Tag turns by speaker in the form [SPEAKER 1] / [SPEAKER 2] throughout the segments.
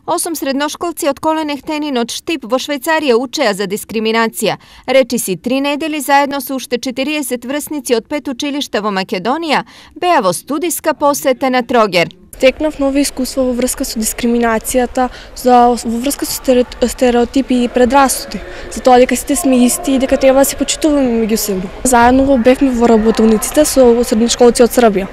[SPEAKER 1] 8 средношколци од Коленехтенин од Штип во Швајцарија учеа за дискриминација. Речиси 3 недели заедно со уште 40 врсници од 5 училишта во Македонија беа во студиска посета на Трогер.
[SPEAKER 2] Стекнав нови искуства во врска со дискриминацијата, во врска со стереотипи и предрасуди, за тоа дека сите сме исти и дека треба да се почитуваме меѓу себе. Заедно бевме во работилниците со средношколци од Србија.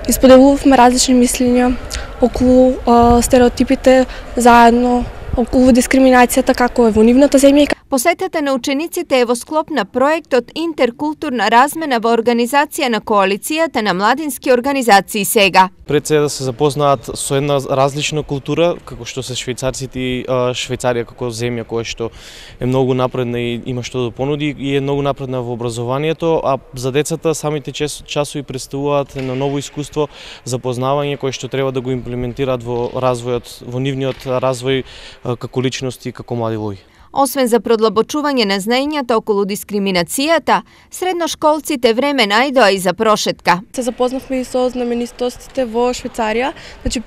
[SPEAKER 2] Исподелувавме различни мислења околу стереотипите, заедно околу дискриминацијата како е во нивната земја.
[SPEAKER 1] Посетата на учениците е во склоп на проектот Интеркултурна размена во организација на коалицијата на младински организации сега.
[SPEAKER 3] Пред се да се запознаат со една различна култура, како што се швајцарците и Швајцарија како земја која што е многу напредна и има што да понуди и е многу напредна во образованието, а за децата самите часови представуваат едно ново искуство, запознавање кое што треба да го имплементираат во развојот, во нивниот развој како личности и како млади луѓе.
[SPEAKER 1] Освен за продлабочување на знаењата околу дискриминацијата, средношколците време најдоа и за прошетка.
[SPEAKER 2] Се запознавме и со знаменитостите во Швајцарија,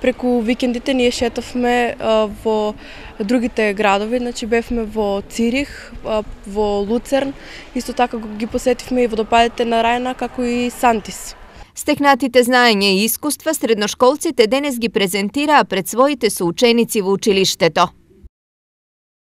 [SPEAKER 2] преку викендите ние шетавме во другите градови, бевме во Цирих, во Луцерн, исто така ги посетивме и водопадите на Рајна, како и Сантис.
[SPEAKER 1] Стекнатите знаења и искуства средношколците денес ги презентираа пред своите соученици во училиштето.